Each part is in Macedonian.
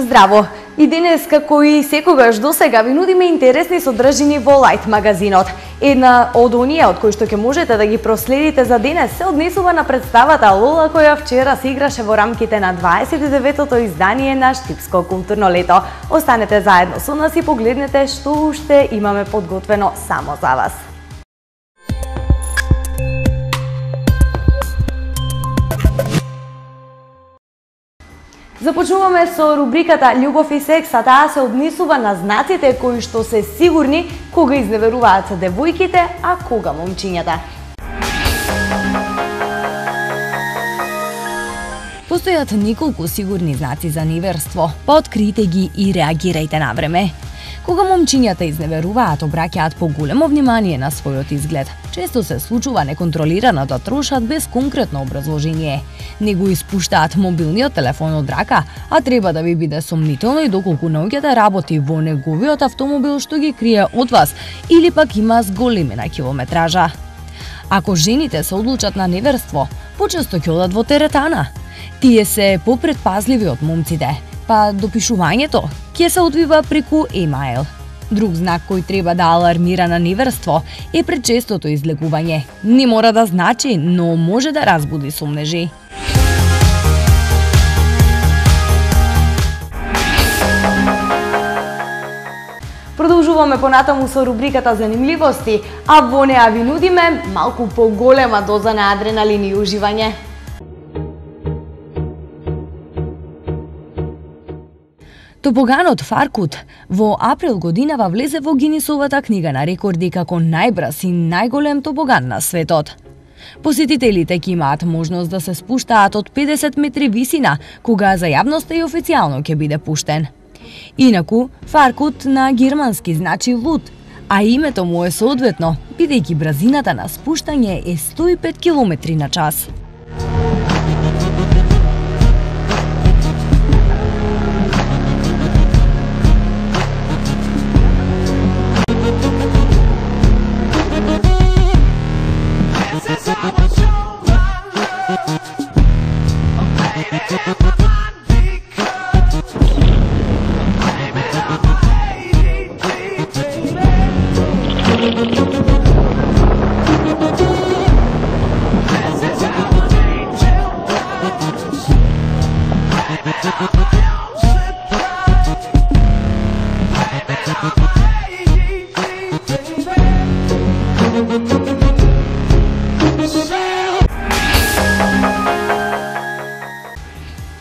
Здраво! И денес, како и секогаш досега, ви нудиме интересни содржини во Лајт магазинот. Една од оние од кои што ќе можете да ги проследите за денес се однесува на представата Лола, која вчера се играше во рамките на 29-тото издание на Штипско културно лето. Останете заедно со нас и погледнете што уште имаме подготвено само за вас. Започнуваме со рубриката Љубов и секс, а таа се однесува на знаците кои што се сигурни кога изневеруваат девојките, а кога момчињата. Постојат неколку сигурни знаци за неверство, па откриете ги и реагирајте на време. Кога момчињата изневеруваат, обраќаат поголемо внимание на својот изглед. Често се случува неконтролирано да трошат без конкретно образложение. Не го испуштаат мобилниот телефон од рака, а треба да ви биде сомнително и доколку наоѓате работи во неговиот автомобил што ги крие од вас или пак има зголемена километража. Ако жените се одлучат на неверство, почесто ќе одат во теретана. Тие се попредпазливи од момците, па допишувањето ќе се одвива преку емаил. Друг знак кој треба да алармира на неверство е пречестото излегување. Не мора да значи, но може да разбуди сомнежи. Продолжуваме понатаму со рубриката Занимливости, а во неа ви нудиме малку поголема доза на адреналин и уживање. Тобоганот Фаркут во април годинава влезе во Гинисовата книга на рекорди како најбрз и најголем тобоган на светот. Посетителите ќе имаат можност да се спуштаат од 50 метри висина, кога за јавноста и официјално ќе биде пуштен. Инаку, Фаркут на германски значи луд, а името му е соодветно, бидејќи брзината на спуштање е 105 км на час.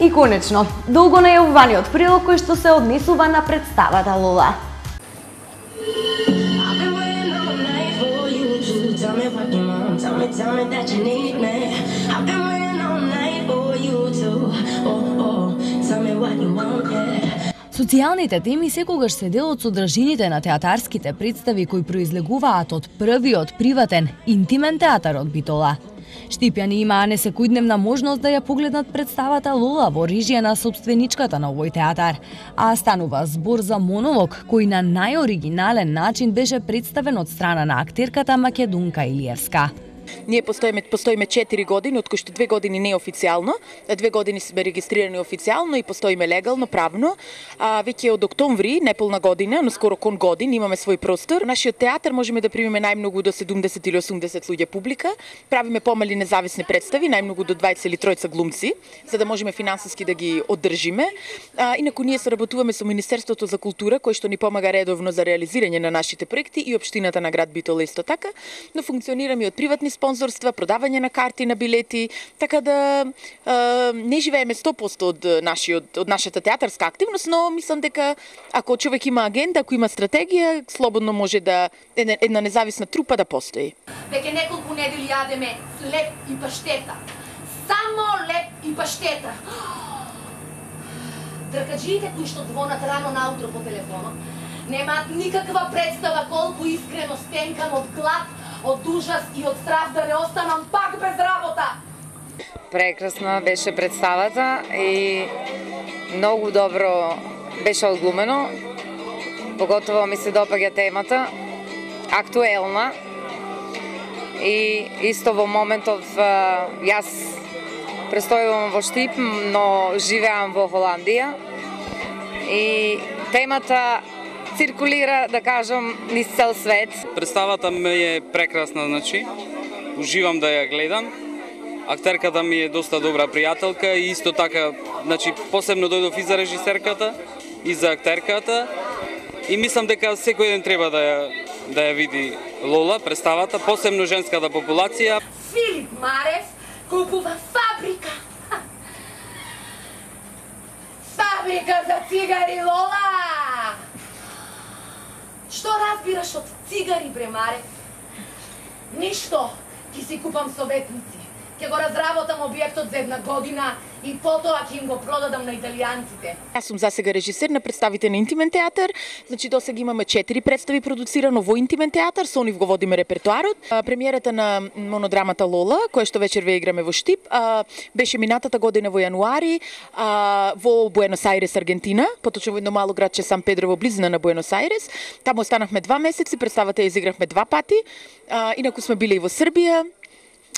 И конечно, долго најавуваниот прилог кој што се однесува на представата Лола. Социјалните теми секогаш се дел од содржините на театарските представи кои произлегуваат од првиот приватен, интимен театар од Битола. Штипјани имаа несекојдневна можност да ја погледнат представата Лола во режија на собственичката на овој театар, а станува збор за монолог кој на најоригинален начин беше представен од страна на актерката Македунка Илиевска. Ние постоиме 4 години, од кои што 2 години неофицијално, 2 години сме регистрирани официјално и постоиме легално, правно. Веќе од октомври, неполна година, но скоро кон годин, имаме свој простор. Нашиот театар можеме да примеме најмногу до 70 или 80 луѓе публика. Правиме помали независни представи, најмногу до 20 или 30 глумци, за да можеме финансиски да ги оддржиме. Инаку ние соработуваме со Министерството за култура, кој што ни помага редовно за реализирање на нашите проекти и општината на град Битола исто така, но функционираме од приватни спонзорства, продавање на карти, на билети, така да не живееме 100% од нашата театарска активност, но мислам дека ако човек има агенда, ако има стратегија, слободно може да една независна трупа да постои. Веќе неколку недели јадеме леп и паштета. Само леп и паштета. Тркаджиите кои што звонат рано наутро по телефонот немаат никаква представа колку искрено стенкам од глад, од ужас и од страх да не останам пак без работа. Прекрасна беше представата и многу добро беше одглумено. Поготово ми се допаѓа темата, актуелна и исто во моментов јас престојувам во Штип, но живеам во Холандија и темата циркулира, да кажам, низ цел свет. Представата ми е прекрасна, значи. Уживам да ја гледам. Актерката ми е доста добра пријателка и исто така, значи, посебно дојдов и за режисерката и за актерката. И мислам дека секој ден треба да ја види Лола, представата, посебно женската популација. Филип Марев купува фабрика. Фабрика за цигари, Лола! Што разбираш од цигари, бре, Марев? Ништо, ќе си купам советници. Ќе го разработам објектот за 1 година и потоа ќе им го продадам на италијанците. Јас сум засега режисер на представите на Интимен театар. Значи досега имаме 4 представи продуцирано во Интимен театар, со нив го водиме репертоарот. Премиерата на монодрамата Лола, која што вечер ве играме во Штип, беше минатата година во јануари во Буенос Ајрес, Аргентина, поточно во едно мало градче Сан Педро во близина на Буенос Ајрес. Таму останавме 2 месеци, представата ја изигравме 2 пати. Инаку сме биле и во Србија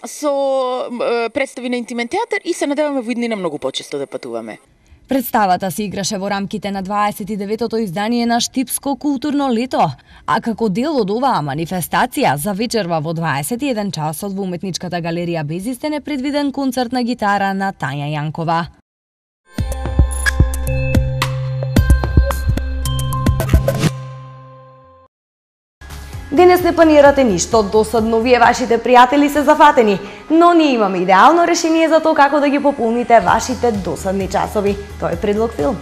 со представи на Интимен театар и се надеваме во иднина многу почесто да патуваме. Представата се играше во рамките на 29-то издание на Штипско културно лето, а како дел од оваа манифестација за вечерва во 21 часот во Уметничката галерија Безистен е предвиден концерт на гитара на Тања Јанкова. Денес не планирате ништо досадно, вие вашите пријатели се зафатени, но ние имаме идеално решение за тоа како да ги пополните вашите досадни часови. Тоа е предлог филм.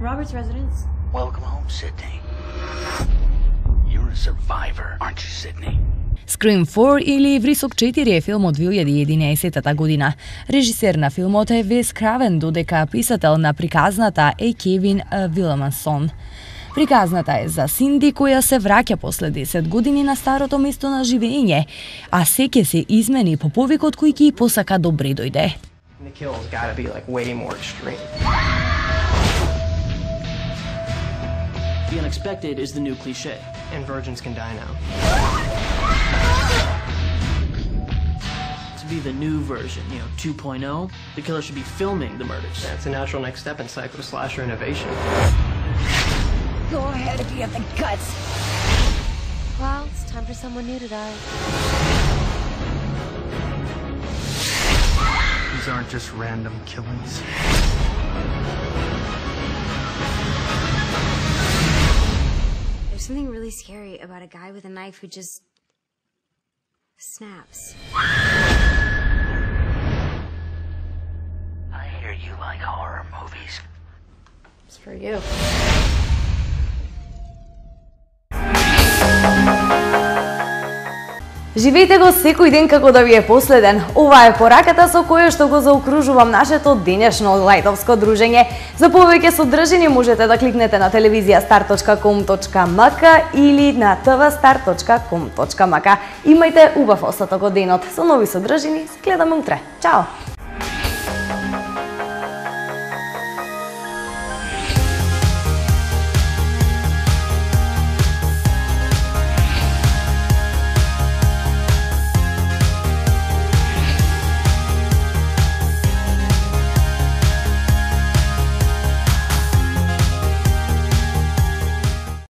Robert's residence. Welcome home, Sydney. You're a survivor, aren't you, Sydney? Scream 4 или Врисок 4 е филм од 2011 година. Режисер на филмот е Вес Кравен, додека писател на приказната е Кевин Вилмансон. Приказната е за Синди која се враќа после 10 години на старото место на живење, а се ќе се измени по повикот кој ќе посака добре дојде. The kill's gotta be like way more extreme. The unexpected is the new cliche. And virgins can die now. To be the new version, 2.0, the killer should be filming the murders. That's a natural next step in psycho slasher innovation. Go ahead if you have the guts. Well, it's time for someone new to die. These aren't just random killings. There's something really scary about a guy with a knife who just snaps. I hear you like horror movies. It's for you. Живејте го секој ден како да ви е последен. Ова е пораката со која што го заокружувам нашето денешно лајтовско дружење. За повеќе содржини можете да кликнете на televiziastar.com.mk или на tvstar.com.mk. Имајте убав остаток од денот. Со нови содржини се гледаме утре. Чао!